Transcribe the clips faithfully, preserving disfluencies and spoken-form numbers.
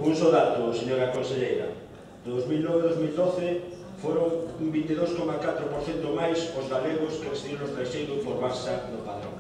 Un só dato, señora conselleira. Do dos mil nove a dos mil doce foron un vinte e dous coma catro por cento máis os galegos que residiron no estranxeiro por base do padrón.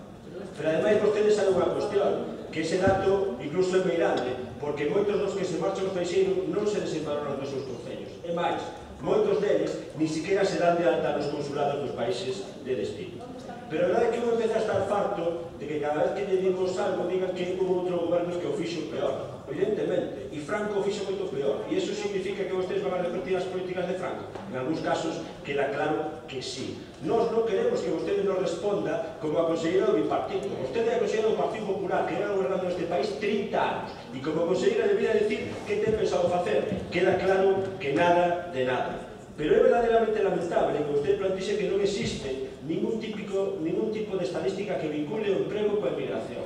Pero ademais vostedes saben unha cuestión, que ese dato incluso é meirande, porque moitos dos que se marchan ao estranxeiro non se desempadronan dos seus concellos. E máis, moitos deles ni siquiera se dan de alta nos consulados dos países de destino. Pero a verdade é que uno empeza a estar farto de que cada vez que lle dimos algo digan que hubo outro goberno que o fixo peor. Evidentemente, e Franco o fixo moito peor. E iso significa que vostedes van a repetir as políticas de Franco? En algúns casos queda claro que sí. Nós non queremos que vostede nos responda como a conselleira do bipartito. Vostede é a conselleira do Partido Popular, que era gobernando neste país trinta anos. E como conselleira debería decir que ten pensado facer. Queda claro que nada de nada. Pero é verdadeiramente lamentable que vostede plantexe que non existe ningún, típico, ningún tipo de estadística que vincule o emprego coa emigración.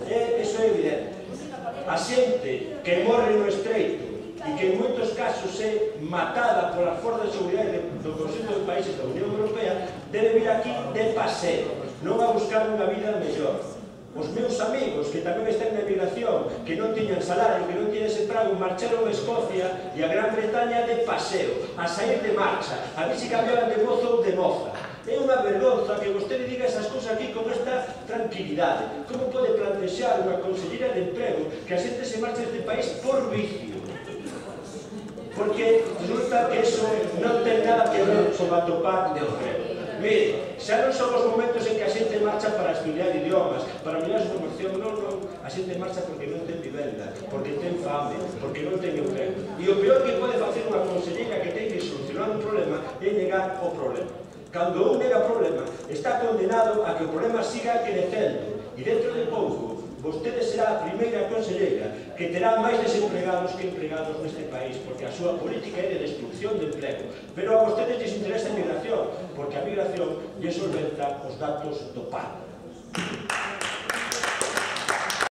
E iso é evidente. A xente que morre no estreito e que en moitos casos é matada polas forzas de seguridade do conxunto de países da Unión Europea debe vir aquí de paseo, non a buscar unha vida mellor. Os meus amigos que tamén están na emigración, que non tiñan salario, que non tiñan ese prago, marcharon a Escocia e a Gran Bretaña de paseo, a sair de marcha, a ver se cambiaban de mozo ou de moza. É unha vergonza que vostede diga esas cousas aquí con esta tranquilidade. Como pode plantexar unha conselleira de emprego que a xente se marcha deste país por vicio? Porque resulta que eso non ten nada que ver con atopar de emprego. Mire, xa non son os momentos en que a xente marcha para estudiar idiomas, para mirar a súa formación, non, non. A xente marcha porque non ten vivenda, porque ten fame, porque non ten emprego. E o peor que pode facer unha conselleira que ten que solucionar un problema é negar o problema. Cando un nega o problema, está condenado a que o problema siga crecendo. E dentro de pouco, vostede será a primeira conselleira que terá máis desempregados que empregados neste país, porque a súa política é de destrucción de emprego. Pero a vostedes les interesa a migración, porque a migración lle solventa os datos do paro.